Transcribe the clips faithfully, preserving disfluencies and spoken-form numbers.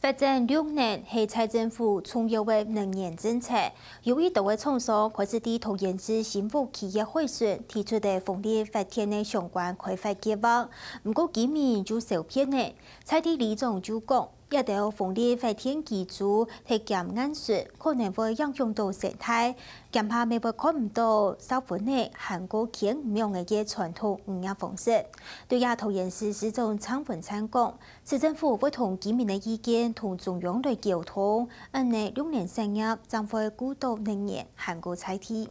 發展綠能係蔡政府重要个能源政策，有一兜个廠商開始在桃園市新屋區个海脣提出个風力發電个相關開發計畫，毋過居民就受騙了。在地里長就講，這兜風力發電機組忒減硬實，可能會影響到生態，驚怕乜會看毋到燒薰仔還過牽毋樣个傳統漁業方式。對這，桃園市市長鄭文燦講， 市政府會同居民个意見同中央來溝通，恁呢綠能產業正會顧到能源還過在地。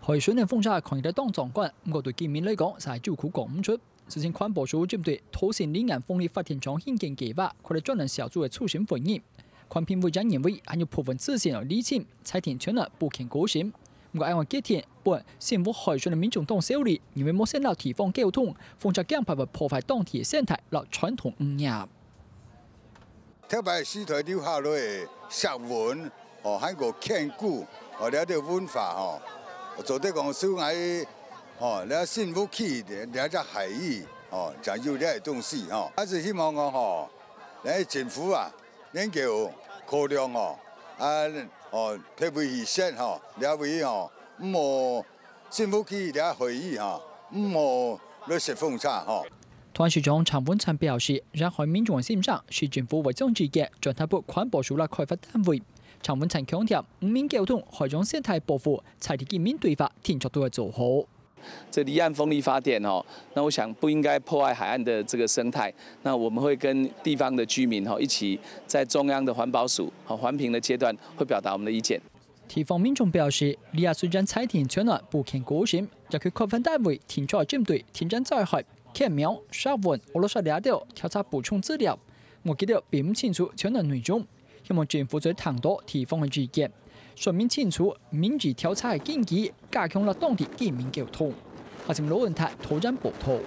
海脣个風車看起來當壯觀，毋過對居民來講，實在有苦講毋出。事前環保署針對桃城李安風力發電廠興建計畫，開了專案小組个初審會議。環評委也認為，還有部分事情來釐清，裁定全案不肯過審。毋過，案个決定 分新屋海脣个民眾當受理，因為無先摎地方溝通，風車驚怕會破壞當地个生態摎傳統漁業。頭擺時代留下來个石紋，哦，還過牽罟，哦，這兜文化，吼，做得講手藝，哦，這新屋區，這隻海域，哦，正有這个東西，吼。還是希望講，吼，這政府啊，能夠考量，吼，啊，哦，特別去設，吼，這位，吼，毋好 政府去了會議哈，毋好來設風車哈。桃園市長鄭文燦表示，沿海民眾个心聲，市政府會將意見轉達分環保署摎開發單位。鄭文燦強調，人民溝通、海洋生態保護，在地居民對話，定著都會做好。這離岸風力發電哦，那我想不應該破壞海岸的這個生態。那我們會跟地方的居民哦，一起在中央的環保署和環評的階段，會表達我們的意見。 地方民眾表示，這下雖然裁定全案不肯過審，也去開發單位定著針對停產災害、牽網、石紋、烏魯沙這兜調查補充資料，毋過佢兜並毋清楚全案內容，希望政府做得聽著地方个意見，說明清楚民意調查个根據，加強摎當地居民溝通。阿sim羅文泰桃園報導。